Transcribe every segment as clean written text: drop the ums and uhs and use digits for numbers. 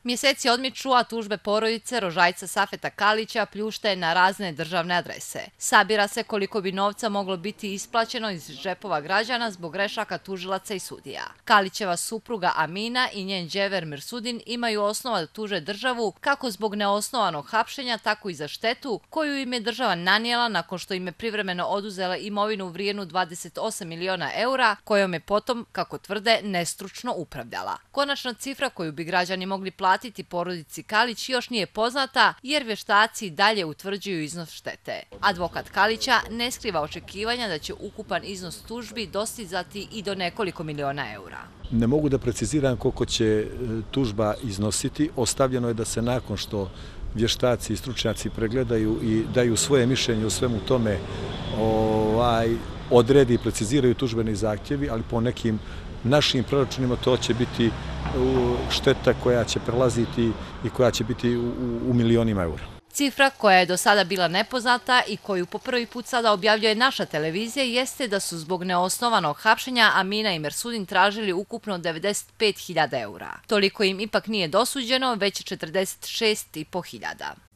Mjeseci odmiču, a tužbe porodice rožajca Safeta Kalića pljušte na razne državne adrese. Sabira se koliko bi novca moglo biti isplaćeno iz džepova građana zbog grešaka tužilaca i sudija. Kalićeva supruga Amina i njen đever Mirsudin imaju osnova da tuže državu kako zbog neosnovanog hapšenja, tako i za štetu koju im je država nanijela nakon što im je privremeno oduzela imovinu vrijednu 28 miliona eura, kojom je potom, kako tvrde, nestručno upravljala. Konačna cifra koju bi građani mogli platiti porodici Kalić još nije poznata jer vještaci dalje utvrđuju iznos štete. Advokat Kalića ne skriva očekivanja da će ukupan iznos tužbi dostizati i do nekoliko miliona eura. Ne mogu da preciziram koliko će tužba iznositi. Ostavljeno je da se nakon što vještaci i stručnjaci pregledaju i daju svoje mišljenje o svemu tome odredi i preciziraju tužbeni zahtjevi, ali po nekim našim proračunima to će biti šteta koja će prelaziti i koja će biti u milionima eura. Cifra koja je do sada bila nepoznata i koju po prvi put sada objavljuje naša televizija jeste da su zbog neosnovanog hapšenja Amina i Mirsudin tražili ukupno 95.000 eura. Toliko im ipak nije dosuđeno, već 46.500.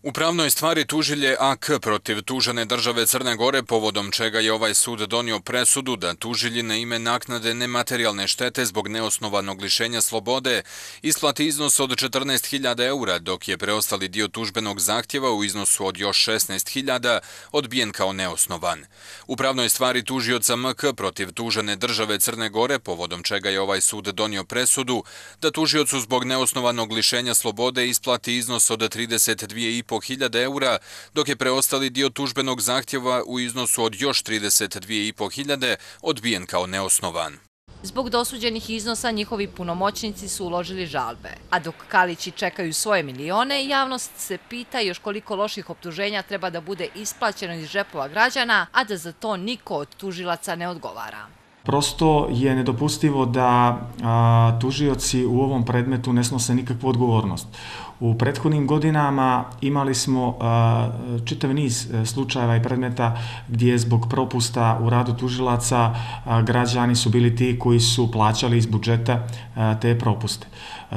U pravnoj stvari tužilje AK protiv tužene države Crne Gore, povodom čega je ovaj sud donio presudu da tužilji na ime naknade nematerijalne štete zbog neosnovanog lišenja slobode isplati iznos od 14.000 eura, dok je preostali dio tužbenog zahtjeva u iznosu od još 16.000 odbijen kao neosnovan. U pravnoj stvari tužioca MK protiv tužene države Crne Gore, povodom čega je ovaj sud donio presudu da tužiocu zbog neosnovanog lišenja slobode isplati iznos od 32.500 eura, dok je preostali dio tužbenog zahtjeva u iznosu od još 32.500 odbijen kao neosnovan. Zbog dosuđenih iznosa njihovi punomoćnici su uložili žalbe, a dok Kalići čekaju svoje milione, javnost se pita još koliko loših optuženja treba da bude isplaćeno iz džepova građana, a da za to niko od tužilaca ne odgovara. Prosto je nedopustivo da tužioci u ovom predmetu ne snose nikakvu odgovornost. U prethodnim godinama imali smo čitav niz slučajeva i predmeta gdje zbog propusta u radu tužilaca građani su bili ti koji su plaćali iz budžeta te propuste.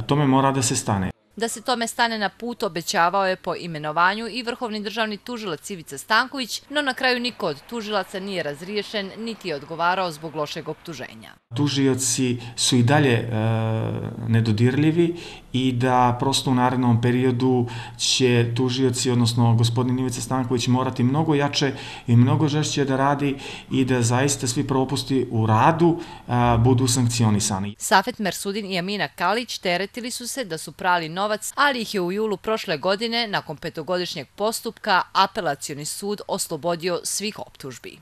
Tome mora da se stane. Da se tome stane na put obećavao je po imenovanju i vrhovni državni tužilac Ivica Stanković, no na kraju niko od tužilaca nije razriješen niti je odgovarao zbog lošeg optuženja. Tužioci su i dalje nedodirljivi i da prosto u narednom periodu će tužioci, odnosno gospodin Ivica Stanković, morati mnogo jače i mnogo žešće da radi i da zaista svi propusti u radu budu sankcionisani. Safet Mirsudin i Amina Kalić teretili su se da su prali novac, ali ih je u julu prošle godine, nakon 5-godišnjeg postupka, apelacioni sud oslobodio svih optužbi.